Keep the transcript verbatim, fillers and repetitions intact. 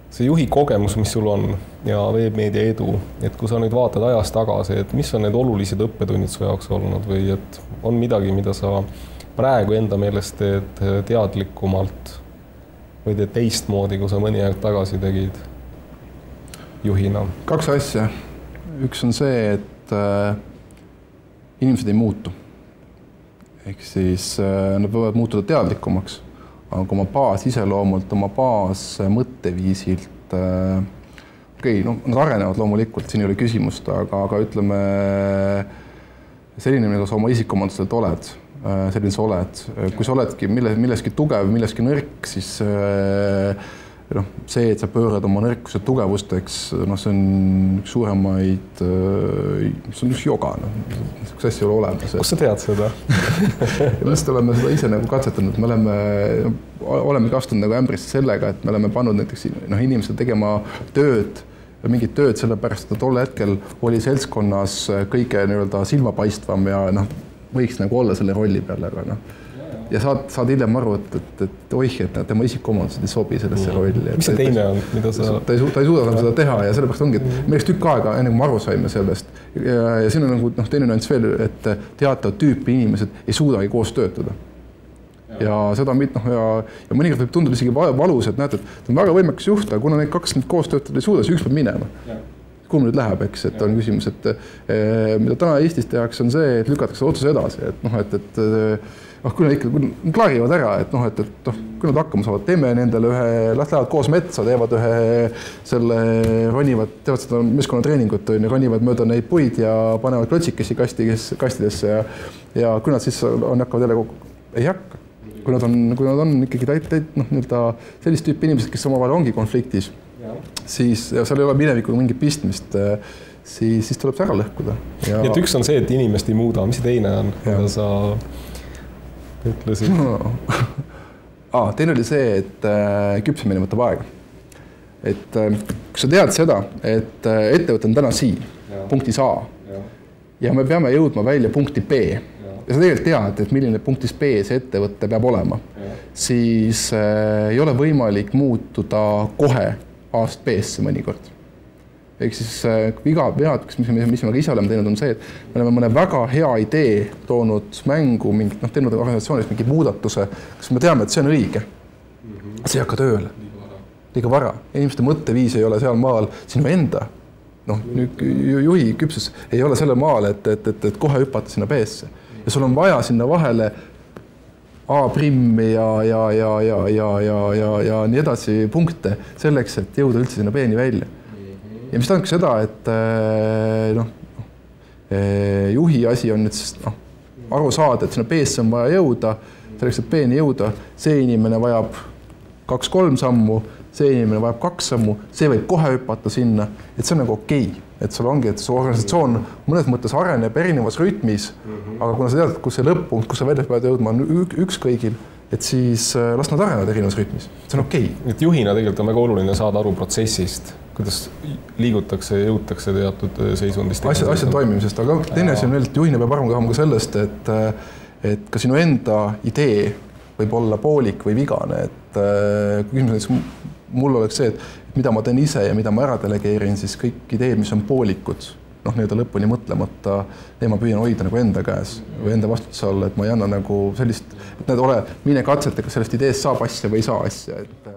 see juhi kogemus, mis sul on ja veebmeedia edu, et kui sa nüüd vaatad ajas tagasi, et mis on need olulised õppetunnid su jaoks olnud või et on midagi, mida sa praegu enda meelest teed teadlikumalt või teed teistmoodi, kui sa mõni aeg tagasi tegid juhina? Kaks asja. Üks on see, et äh, inimesed ei muutu. Ehk siis äh, nad võivad muutuda teadlikumaks. Aga oma baas iseloomult, oma baas mõtteviisilt, äh, okei, no, nad arenevad loomulikult, siin ei ole küsimust, aga, aga ütleme, selline, mida sa oma isikuomaduselt oled, äh, selline sa oled. Kui sa oledki mille, milleski tugev, milleski nõrk, siis äh, noh, see, et sa pöörad oma nõrkused tugevusteks, noh, see on üks suuremaid, see on üks joga, noh, üks asja ei ole olemas. Kus sa tead seda? Me oleme seda ise nagu katsetanud, me oleme, oleme kastunud nagu ämbrisse sellega, et me oleme pannud näiteks noh, inimesed tegema tööd, mingit tööd sellepärast, et tol hetkel oli seltskonnas kõige nii-öelda silmapaistvam ja noh, võiks nagu olla selle rolli peal, aga noh, ja saad, saad hiljem aru, et, et, et oih, et tema isikuomadused ei sobi sellesse rolli. Mis see teine on, mida sa... Ta ei, ta ei suuda seda teha ja sellepärast ongi, et meil üks tükk aega, enne kui me aru saime sellest. Ja, ja siin on nagu noh, teine nüanss veel, et teatav tüüpi inimesed ei suudagi koos töötada. Ja seda mit, noh, ja, ja mõnikord võib tunduda isegi valus, et näed, et ta on väga võimekas juht, aga kuna neid kaks nüüd koos töötada ei suuda, siis üks peab minema. Kuhu nüüd läheb, eks, et on küsimus, et eh, mida täna Eestis tehakse, on see, et lükatakse otsuse edasi, et noh, et, et noh, kui nad ikka kui nad klaarivad ära, et noh, et, et noh, kui nad hakkama saavad, teeme nendele ühe, las lähevad koos metsa, teevad ühe selle, ronivad, teevad seda meeskonnatreeningut, ronivad mööda neid puid ja panevad klotsikesi kasti, kastidesse ja, ja kui nad siis on, hakkavad jälle kokku, ei hakka. Kui nad on, kui nad on ikkagi täit, täit, noh, nii-öelda sellist tüüpi inimesed, kes omavahel ongi konfliktis, siis ja seal ei ole minevikuga mingit pistmist, siis, siis tuleb see ära lõhkuda. Ja... et üks on see, et inimest ei muuda, mis see teine on, mida sa ütlesid? No. ah, teine oli see, et äh, küpsemine võtab aega. Et äh, kui sa tead seda, et äh, ettevõte on täna siin, ja. Punktis A ja. ja me peame jõudma välja punkti B ja, ja sa tegelikult tead, et milline punktis B see ettevõte peab olema, ja. Siis äh, ei ole võimalik muutuda kohe aast B-sse mõnikord. Ehk siis viga, vead, mis, mis me ise oleme teinud, on see, et me oleme mõne väga hea idee toonud mängu, mingit, noh, teinud organisatsioonis mingi muudatuse, kas me teame, et see on õige. See ei hakka tööle. Liiga vara. Inimeste mõtteviis ei ole seal maal sinu enda. Noh, juhi küpsus ei ole selle maal, et, et, et, et kohe hüpata sinna B-sse. Ja sul on vaja sinna vahele A-primmi ja, ja, ja, ja, ja, ja, ja, ja nii edasi punkte selleks, et jõuda üldse sinna B-ni välja. Ja mis tähendab seda, et noh, juhi asi on nüüd noh, aru saada, et sinna B-sse on vaja jõuda, selleks, et B-ni jõuda, see inimene vajab kaks-kolm sammu, see inimene vajab kaks sammu, see võib kohe hüpata sinna, et see on nagu okei. Et sul ongi, et su organisatsioon mõnes mõttes areneb erinevas rütmis, aga kuna sa tead, kus see lõpp-punkt, kus sa välja pead jõudma, on üks kõigil, et siis las nad arenevad erinevas rütmis. See on okei. Et juhina tegelikult on väga oluline saada aru protsessist, kuidas liigutakse ja jõutakse teatud seisundist. Asjad, asjad toimimisest, aga teine asi on veel, et juhina peab aru saama ka sellest, et, et ka sinu enda idee võib olla poolik või vigane. Et kui küsimus mul oleks see, et mida ma teen ise ja mida ma ära delegeerin, siis kõik ideed, mis on poolikud, noh, nii-öelda lõpuni mõtlemata, need ma püüan hoida nagu enda käes või enda vastutuse all, et ma ei anna nagu sellist, et need ole, mine katseta, kas sellest ideest saab asja või ei saa asja. Et